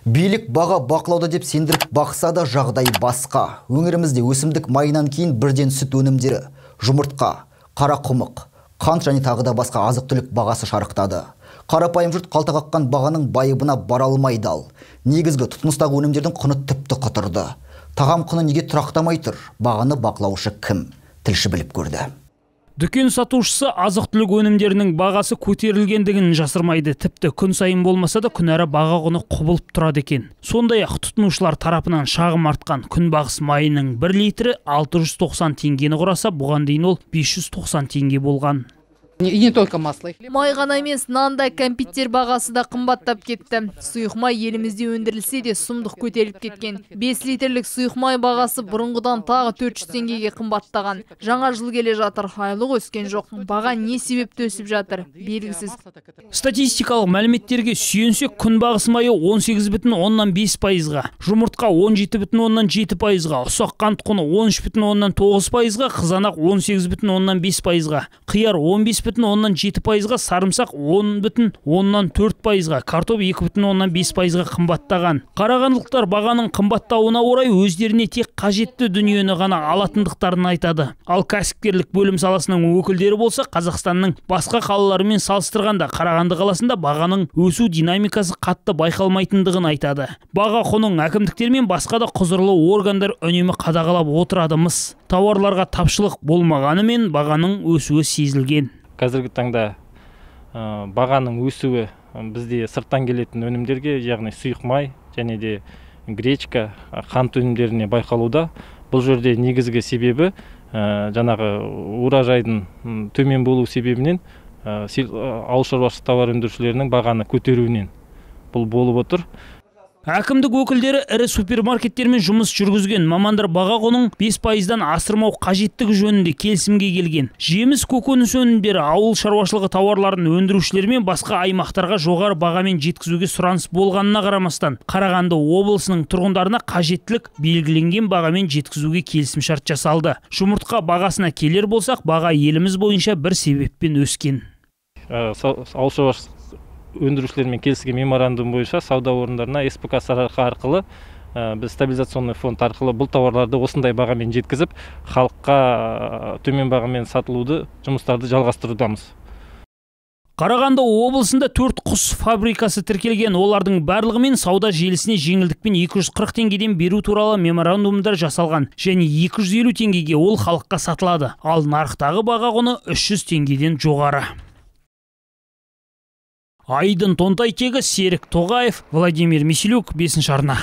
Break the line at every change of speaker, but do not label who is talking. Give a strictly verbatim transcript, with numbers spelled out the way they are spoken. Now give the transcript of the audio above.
Билік баға бақылауда деп сендіріп бақса да жағдай басқа. Өңірімізде өсімдік майынан кейін бірден сүт өнімдері, жұмыртқа, қарақұмық, қант және тағы да басқа азық-түлік бағасы шарықтады. Қарапайым жұрт қалта қаққан бағаның байыбына бара алмайды ал. Негізгі тұтыныстағы өнімдердің құны тіпті құтырды. Тағам құны неге тұрақтамай тұр? Бағаны бақылаушы кім? Тілші біліп көрді.
Дүкен сатушысы азық-түлік өнімдерінің бағасы көтерілгендігін жасырмайды. Тіпті күн сайын болмаса да күнара баға құны құбылып тұрады екен. Сондай-ақ тұтынушылар тарапынан шағым артқан күнбағыс майының бір литрі алты жүз тоқсан теңгені құраса, бұған дейін ол бес жүз тоқсан теңге болған.
И не только масло.
Май ғана емес, нанда кәмпиттер бағасы да қымбаттап кетті. Сұйық май елімізде өндірілсе де сұмдық көтеріліп кеткен. бес литрлік сұйық май бағасы бұрынғыдан тағы төрт жүз теңгеге қымбаттаған. Жаңа жыл келе жатыр, айлық өскен жоқ. Баға не себепті өсіп жатыр? Белгісіз.
Статистикалық мәліметтерге сүйенсек, күнбағыс майы он сегіз бүтін оннан бес пайызға, жұмыртқа он жеті бүтін оннан жеті пайызға, ұсақ қант құны он үш бүтін оннан тоғыз пайызға, қызанақ он сегіз бүтін оннан бес пайызға, қияр он бес бүтін оннан жеті пайызға, сарымсақ он бүтін оннан төрт пайызға, картоп екі бүтін оннан бес пайызға қымбаттаған. Қарағандылықтар бағаның қымбаттауына орай өздеріне тек қажетті дүниені ғана алатындықтарын айтады. Ал кәсіпкерлік бөлім саласының өкілдері болса, Қазақстанның басқа қалаларымен салыстырғанда Қарағанды қаласында бағаның өсу динамикасы қатты байқалмайтындығын айтады. Баға құнын әкімдіктер мен басқа да құзырлы органдар үнемі қадағалап отырады-мыс. Тауарларға тапшылық болмағанымен бағаның өсуі сезілген.
Қазіргі таңда бағаның өсуі бізде сырттан келетін өнімдерге, яғни сұйық май және де гречка, қант өнімдеріне байқалуда. Бұл жерде негізгі себебі жаңағы уражайдың төмен болу себебінен ауыл шаруашылық тауар өндірушілерінің бағаны көтеруінен бұл болып отыр.
Әкімдік өкілдері ірі супермаркеттермен жұмыс жүргізген. Мамандар баға құнын бес пайыздан асырмау қажеттігі жөнінде келісімге келген. Жеміс көкөніс өнімдері, ауыл шаруашылығы тауарларын өндірушілер мен басқа аймақтарға жоғары бағамен жеткізуге сұраныс болғанына қарамастан, Қарағанды облысының тұрғындарына қажеттілік белгіленген бағамен жеткізуге келісімшарт жасалды. Жұмыртқа бағасына келер болсақ, баға еліміз бойынша бір себеппен өскен.
Ауыл шаруашылық өндірушілермен келіскен меморандум бойынша сауда орындарына эс пэ ка сарыарқа арқылы біз стабилизационный фонд арқылы бұл тауарларды осындай бағамен жеткізіп, халыққа төмен бағамен сатылуды жұмыстарды жалғастырудамыз.
Қарағанды облысында төрт құс фабрикасы тіркелген. Олардың барлығымен сауда желісіне жеңілдікпен екі жүз қырық теңгеден беру туралы меморандумдар жасалған және екі жүз елу теңгеге ол халыққа сатылады. Ал нарықтағы баға құны үш жүз теңгеден жоғары. Айдын Тонтайтегі, Серік Тоғаев, Владимир Миселюк, бесінші арна.